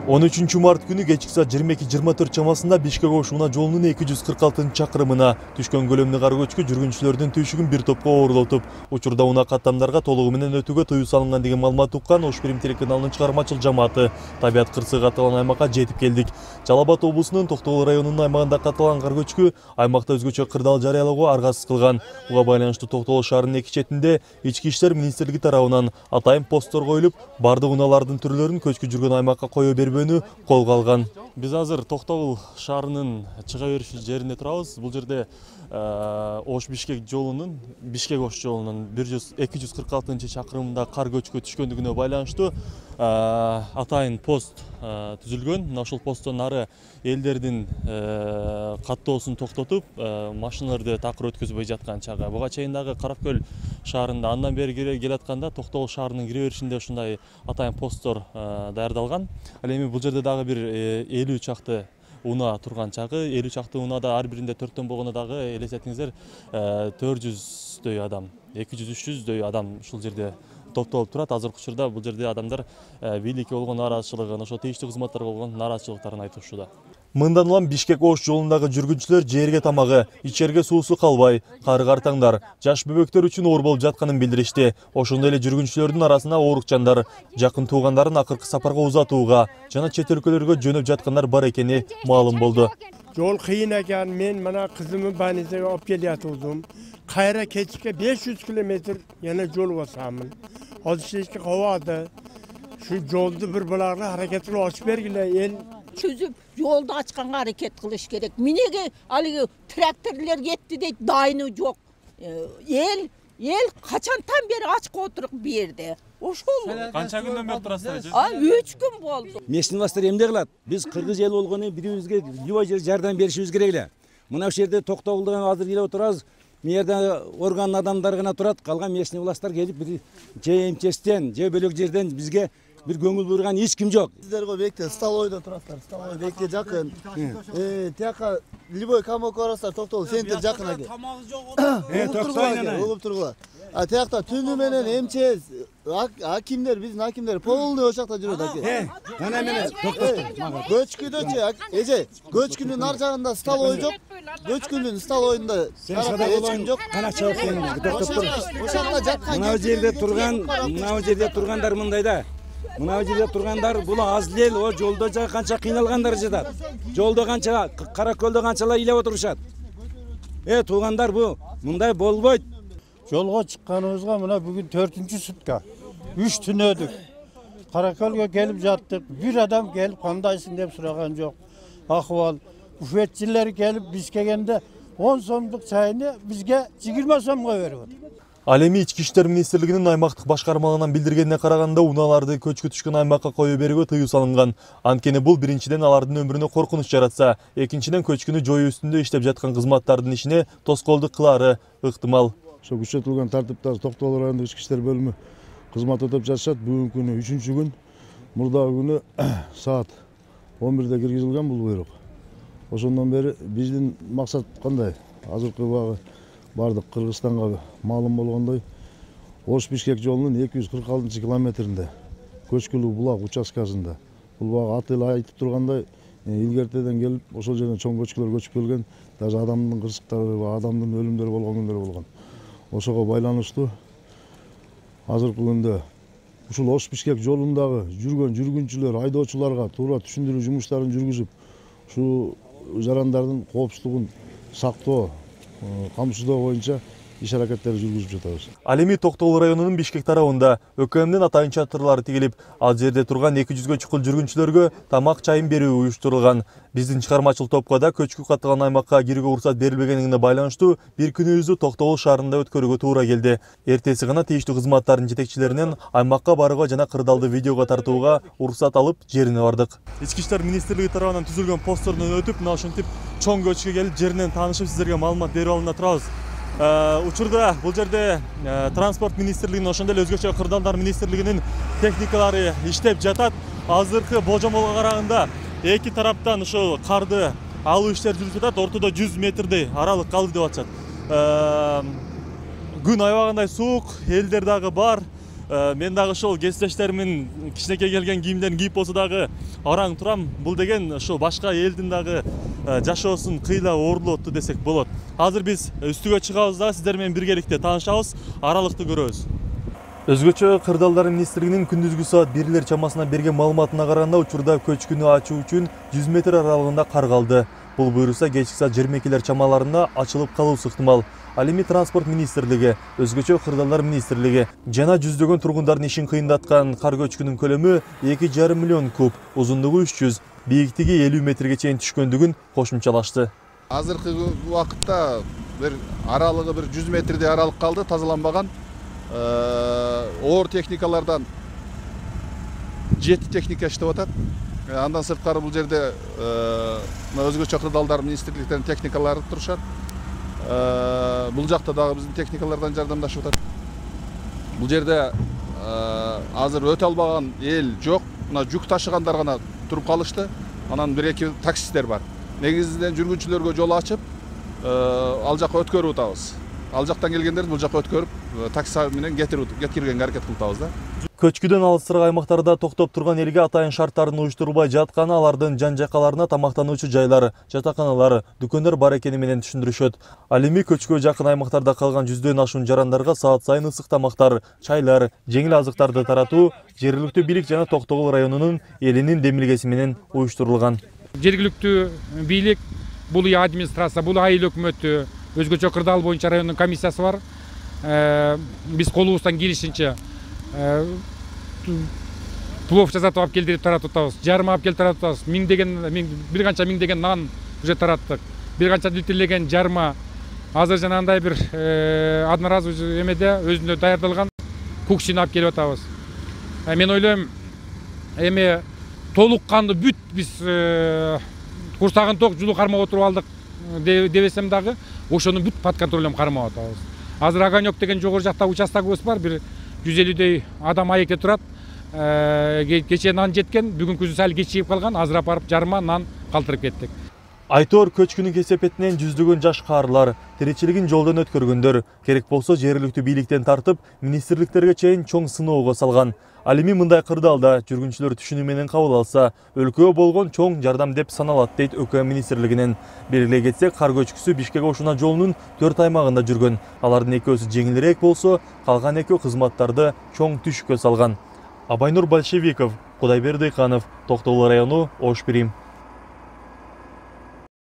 13 март күнү кечки саат 22:24 чамасында Бишкек-Ош унаа жолунун 246-чакырымына түшкөн көлөмдүү кар көчкү жүргүнчүлөрдүн түйшүгүн бир топко оорлотуп, учурда унаа каттамдарга толугу менен өтүүгө тыюу салынган деген маалымат уккан Ош Прим телеканалынын чыгармачыл жамааты табият кырсыгы катталган аймакка жетип келдик. Жалал Абад облусунун Токтогул районунун аймагында катталган кар көчкү аймакта өзгөчө кырдаал жарыялоого аргасыз кылган. Буга байланыштуу Токтогул шаарынын эки четинде Ички иштер министрлиги тарабынан атайын посттор коюлуп, бардык унаалардын түрлөрүн көчкү жүргөн аймакка кое бербөөнү колго алган. Биз азыр Токтогул шаарынын чыга бериш жеринде турабыз. Бул жерде Ош-Бишкек жолунун, Бишкек-Ош жолунун 246-чакырымында кар көчкү түшкөндүгүнө байланыштуу атайын пост түзүлгөн. Мына ошол посттон нары элдердин каттоосун токтотуп, машиналарды такыр өткөзбөй жаткан чагы. Буга чейин дагы Каракөл шаарында андан бери келатканда Токтогул шаарынын кире беришинде ушундай атайын посттор даярдалган. Ал эми бул жерде дагы бир 50 чакты унаа турган чагы, 50 чакты унаада ар биринде 4төн болгону дагы элестетиңиздер 400дөй адам, 200-300дөй адам ушул жерде топтолуп турат. Азыркы учурда бул жерде адамдар бийликке болгон нааразычылыгын, ошо тийиштүү кызматтарга болгон нааразычылыктарын айтышууда. Мындан улам Бишкек-Ош жолундагы жүргүнчүлөр жээрге тамагы, ичерге суусу калбай, кары-картаңдар, жаш бөбөктөр үчүн оор болуп жатканын билдиришти. Ошондой эле жүргүнчүлөрдүн арасына оорукчандар, жакын туугандарын акыркы сапарга узатууга жана чет өлкөлөргө жөнөп жаткандар бар экени маалым болду. Жол кыйын экен, мен мына кызымды больницага алып келатырдым. Кайра кечке 500 км yana жол басамын. Азыр эчке кабады. Şu жолду бир буларга аракетini ачып бергиле, эл чүзүп жолду ачканга аракет кылыш керек. Минеге алыгы тракторлор кетти дейт, дайыны жок. Эл качантан бери ачка отуруп берди. Ошол. Канча күндөн бери турасыздар? 3 күн болду. Местный власттар эмне кылат? Биз кыргыз эл болгону бирибизге любой жер жардам беришибиз керек эле. Мына ушул жерде Токтогулдан азыр келип отурабыз. Мээрде орган адамдар гана турат, калган местный власттар келип бир же МЧСтен, же бөлөк жерден бизге bir көңүл бурган эч ким жок. Сиздерге бекте столойдо турасыздар. Столой бекте жакын. Тияка любой камок барасыздар, Токтогул центр жакын экен. Тамагы жок. Токтогул угуп тургула. А тиякта түнү менен МЧС, акимдер, биздин акимдер полный ошакта жүрөт аке. Мына менен Көчкүдөчү, эже, көчкүнүн ар жагында столой жок. Көчкүнүн столойунда эч ким жок. Кана чабып келиңер, токтоп тур. Ошакта жаткан. Мына жерде тургандар мындай да. Мына жерде тургандар бул аз эл, о жолдо канча кыйналгандар жатат. Жолдо канча, Каракөлдө канчалар илеп отурушат. Туугандар бу мындай болбойт. Жолго чыкканыбызга мына бүгүн 4-сутка. 3 түнөдүк. Каракөлгө келип жаттык. Бир адам келип кандайсың деп сураган жок. Акыбал буфетчилер келип биз келгенде 10 сомдук чайны бизге 20 сомго берип атат. Ал эми Ички иштер министрлигинин аймактык башкармалыгынан билдиргенине караганда унааларды көчкү түшкөн аймакка кое берүүгө тыюу салынган. Анткени бул биринчиден алардын өмүрүнө коркунуч жаратса, экинчиден көчкүнү жоюу үстүндө иштеп жаткан кызматтардын ишине тоскоолдук кылаары ыктымал. Ошо күчөтүлгөн тартипте Токтогул райондук ички иштер бөлүмү кызмат өтөп жатышат. Бүгүнкү күнү 3-күн, мурдагы күнү саат 11-де киргизилген бул буйрук. Ошондон бери биздин максат кандай? Азыркы убагы бардык Кыргызстанга маалым болгондой, Ош-Бишкек жолунун 246-километринде көчкүлүү булак участкасында. Бул багы аты эле айтып тургандай, илгертеден келип, ошол жерден чоң көчкүлөр көчүп келген, даже адамдын кырсыктары, адамдын өлүмдөрү болгон күндөр болгон. Ошого байланыштуу азыркы күндө ушул Ош-Бишкек жолундагы жүргөн жүргүнчүлөр, айдоочуларга туура түшүндүрүү жумуштарын жүргүзүп, ушул жарандардын коопсуздугун сактоо, камсыздоо боюнча иш аракеттери жүргүзүп жатабыз. Ал эми Токтогул районунун Бишкек тарабында ÖKM'дин атайын чатырлары тигилип, ал жерде турган 200гө чукул жүргүнчүлөргө тамак чайын берүү уюштурулган. Биздин чыгармачыл топко да көчкү катталган аймакка кирүүгө уруксат берилбегенине байланыштуу бир күнүбүздү Токтогул шаарында өткөрүүгө туура келди. Эртеси гана тийиштүү кызматтардын жетекчилеринен аймакка барууга жана кырдаалды видеого тартууга уруксат алып, жерине бардык. Ички иштер министрлиги тарабынан түзүлгөн посттордон өтүп, мына ушинтип чоң көчкүгө келип, жеринен таанышып, сиздерге маалымат берип алууна турабыз. Учурда бул жерде транспорт министрлигинин, ошондой эле өзгөчө кырдаалдар министрлигинин техникалары иштеп жатат. Азыркы болжомолго караганда эки тараптан ошол карды алуу иштери жүрүп жатат. Ортодо 100 метрдей аралык калды деп атышат. Күн аябагандай суук, элдер дагы бар. Мен дагы ошол кесиптештеримин кичинекей келген кийимдерин кийип болсо дагы араң турам. Бул деген ошо башка элдин дагы жашоосун кыйла оорлоп атты десек болот. Азыр биз үстүгө чыгабыз дагы сиздер менен биргеликте таанышабыз, аралыкты көрөбүз. Өзгөчө Кырдаалдар министрлигинин күндүзгү саат 1 чамасына берген маалыматына караганда учурда көчкүнү ачуу үчүн 100 метр аралыгында кар калды. Бул буюрса кечки саат 22 чамаларында ачылып калуусу ыктымал. Ал эми транспорт министрлиги, өзгөчө Кырдаалдар министрлиги жана жүздөгөн тургундардын ишин кыйындаткан кар көчкүнүн көлөмү 2,5 миллион куб, узундугу 300, бийиктиги 50 метрге чейин түшкөндүгүн кошумчалашты. Азыркы убакытта бир аралыгы бир 100 метрдей аралык калды, тазаланбаган. Оор техникалардан 7 техника иштеп атат. Андан сырткары бул жерде өзгөчө Кырдаалдар министрликтеринин техникалары турушат. Бул жакта дагы биздин техникалардан жардамдашып атат. Бул жерде азыр өтө албаган эл жок. Мына жүк ташыгандар гана туруп калышты. Анан 1-2 таксисттер бар. Негизинен жүргүнчүлөргө жол ачып, ал жакка өткөрүп атабыз. Ал жактан келгендерди бул жакка өткөрүп, такси менен жеткиргенге аракет кылып атабыз да. Көчкүдөн алысыраак аймактарда токтоп турган элге атайын шарттардын уюштурулбай жатканы, алардын жан-жаккаларына тамактануучу жайлар, жатаканалар, дүкөндөр бар экени менен түшүндүрүшөт. Ал эми көчкүгө жакын аймактарда калган 100дөн ашуун жарандарга саат сайын ысык тамактар, чайлар, жеңил азыктарды таратуу жергиликтүү бийлик жана Токтогул районунун элинин демилгеси менен уюштурулган. Жергиликтүү бийлик, бул администрация, бул айыл өкмөтү, өзгөчө Кырдаал боюнча райондун комиссиясы бар. Биз колубуздан келишинче плов жасатып алып келдирип таратып атабыз. Жарма алып келип таратып атабыз. Бир канча миңдеген нан уже тараттык. Бир канча литрлеген жарма. Азыр жанагындай бир одноразовый эмеде өзүндө даярдалган куксини алып келип атабыз. Мен ойлойм, эми толук канды бүт биз курсагын ток жулу кармап отуруп алдык дебесем дагы, ошонун бүт под контролун кармап атабыз. Азыр Огонек деген жогору жакта участогубуз бар, бир 150 адам аекте турат. Кечээ нан жеткен, бүгүнкүсү сал кечигип калган, азыр апарып жарма, нан калтырып кеттик. Айтор көчкүнүн кесепетинен жүздөгөн жаш каарылар, тиричилигин жолдон өткөргөндөр, керек болсо жергиликтүү бийликтен тартып, министрликтерге чейин чоң сыноого салган. Ал эми мындай кырдаалда жүргүнчүлөр түшүнүү менен кабыл алса, өлкөгө болгон чоң жардам деп саналат, дейт ÖKM министрлигинен. Белгилей кетсек, кар көчкүсү Бишкек-Ошуна жолунун 4 аймагында жүргөн. Алардын экөөсү жеңилирээк болсо, калган экөө кызматтарды чоң түшүккө салган. Абайнур Большевиков, Кудайберди Дыйканов, Токтогул району, Ош Бирим.